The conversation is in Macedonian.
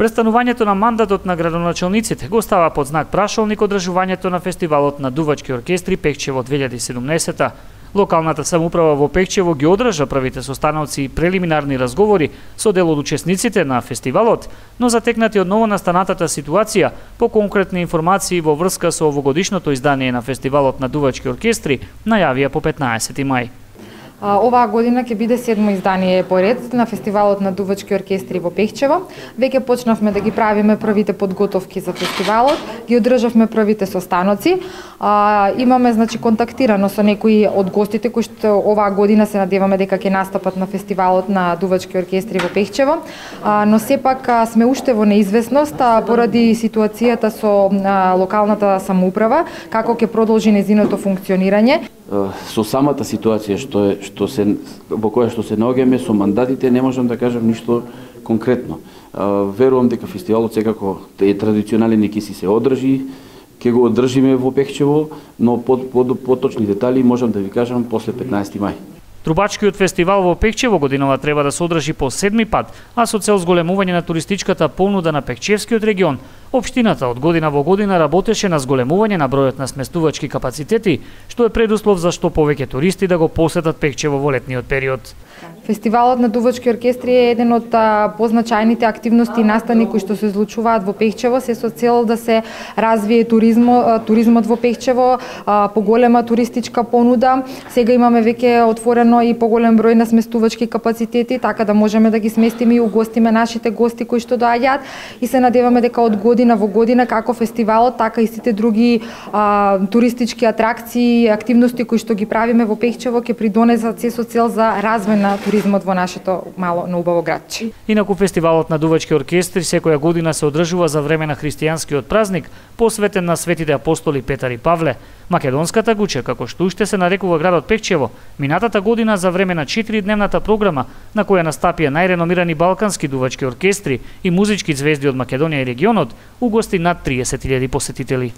престанувањето на мандатот на градоначалниците го става под знак прашалник одржувањето на фестивалот на дувачки оркестри Пекчево 2017. Локалната самоуправа во Пекчево ги одржа првите состаноци и прелиминарни разговори со дел од учесниците на фестивалот, но затекнати од новонастанатата ситуација, по конкретни информации во врска со овогодишното издание на фестивалот на дувачки оркестри, најавија по 15 мај. Оваа година ќе биде 7-мо издание поред на фестивалот на дувачки оркестри во Пекчево. Веќе почнавме да ги правиме првите подготовки за фестивалот, ги одржавме првите состаноци. Имаме контактирано со некои од гостите кои што оваа година се надеваме дека ќе настапат на фестивалот на дувачки оркестри во Пекчево, но сепак сме уште во неизвестност поради ситуацијата со локалната самоуправа, како ќе продолжи незиното функционирање. Со самата ситуација во која што се наоѓаме, со мандатите не можам да кажам ништо конкретно. Верувам дека фестивалот секако е традиционален и ќе се одржи, ќе го одржиме во Пекчево, но поточни детали можам да ви кажам после 15 мај. Трубачкиот фестивал во Пекчево годинава треба да се одржи по 7-ми пат, а со цел зголемување на туристичката понуда на Пекчевскиот регион, општината од година во година работеше на зголемување на бројот на сместувачки капацитети, што е предуслов за што повеќе туристи да го посетат Пекчево во летниот период. Фестивалот на дувачки оркестри е еден од позначајните активности и настани кои што се случуваат во Пекчево, се со цел да се развие туризмот во Пекчево, поголема туристичка понуда. Сега имаме веќе отворено и поголем број на сместувачки капацитети, така да можеме да ги сместиме и угостиме нашите гости кои што доаѓаат, и се надеваме дека од година во година како фестивалот, така и сите други туристички атракции и активности кои што ги правиме во Пекчево ќе придонесат се со цел за развој на туризмот во нашето мало, но убаво градче. Инаку фестивалот на дувачки оркестри секоја година се одржува за време на христијанскиот празник, посветен на светите апостоли Петар и Павле. Македонската Гуче, како што уште се нарекува градот Пекчево, минатата година за време на 4-дневната програма, на која настапија најреномирани балкански дувачки оркестри и музички звезди од Македонија и регионот, угости над 30.000 посетители.